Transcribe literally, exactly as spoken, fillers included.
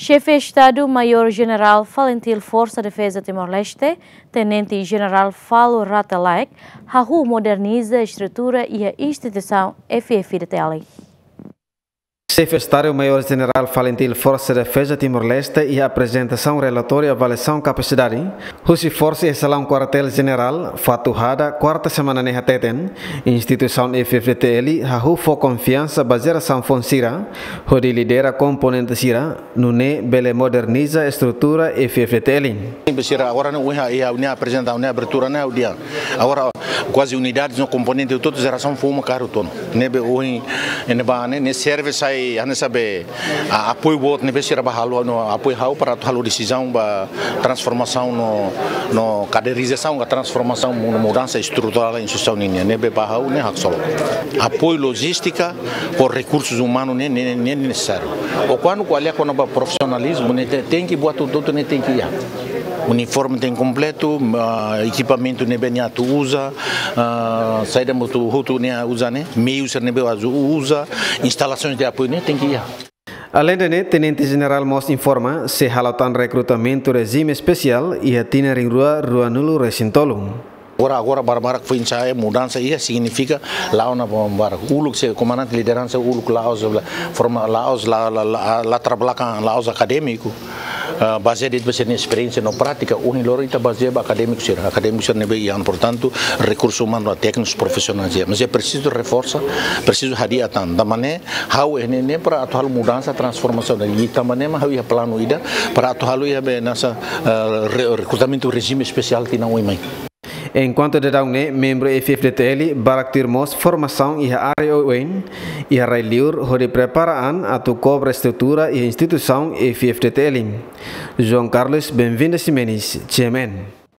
Xefe Estadu Maiór Jenerál Falintil Forsa Defeza Timor-Leste, Tenente Jenerál Falo Rate Laek, hahú moderniza estrutura iha instituisaun F F D T L. Xefe Estadu Maiór Jenerál Falintil Forsa Defeza Timor-Leste iha aprezentasaun relatóriu avaliasaun kapasidade husi forsa iha salaun Kuartél Jenerál, Fatuhada, kuarta semana ne'e hateten, instituisaun F F D T L hahú fó konfiansa ba jerasaun foun sira, hodi lidera komponente sira, nune'e bele moderniza estrutura F F D T L. Ne'ebé sira agora ne'e ohin iha, iha ne'e aprezenta, ne'e abertura ne'e ha'u dehan. Agora kuaze unidades no komponente hotu-hotu jerasaun foun mak kaer hotu ona. Ne'ebé ohin ne'ebá ne'e, ne'e serve sai hanesan be, a, apoiu boot ne'ebé sira bá halo, no apoiu ha'u para atu halo desizaun ba transformasaun no, no kaderizasaun ka transformasaun no mudansa estruturál instituisaun nian. Ne'ebé ba ha'u ne'e haksolok. Apoiu lojístika, ho rekursus umanus ne'e, ne'e, ne'e nesesáriu. Ho kuandu ko'alia kona-ba profisionalizmu ne'e te-, tenke buat hotu-hotu ne'e tenke iha. Uniforme tenke kompletu, ah, ekipamentu ne'ebé nia atu uza, ah, saida mak hotu-hotu nia uza ne'e, meius sira ne'ebé atu uza, instalasoens de apoiu ne'e tenke iha. Aleinde ne'e, Tenente Jenerál mós informa, sei halo tan rekrutamentu rejime espesiál iha tinan rihun rua ruanulu-resin-tolu. Agora, agora barak-barak foin-sa'e mudansa iha signifika la'o ona barak. Uluk se komandante lideransa uluk la'ós, forma la'ós, la, la, la, latar belakang la'ós akadémiku. Ah, bazeia de'it ba sira-nia esperiénsia no prátika, ohin loron ita bazeia ba akadémiku sira. Akadémiku sira ne'ebé iha, portantu, rekursus umanus téknikus profisionais iha. Mas é presizu reforsa, presizu hadi'a tan. Tanba ne'e, ha'u iha ne'e, ne'e para atu halo mudansa, transformasaun. I tanba ne'e mak ha'u iha planu ida para atu halo iha be hanesan, eh, re-, rekrutamentu rejime espesiál tinan oin mai. Enkuantu daudaun ne'e, membru F F D T L barak tuir mós formasaun iha área oioin, iha rai-li'ur, hodi prepara an atu kobra estrutura iha instituisaun F F D T L. João Carlos Benvinda Ximenes, G M N.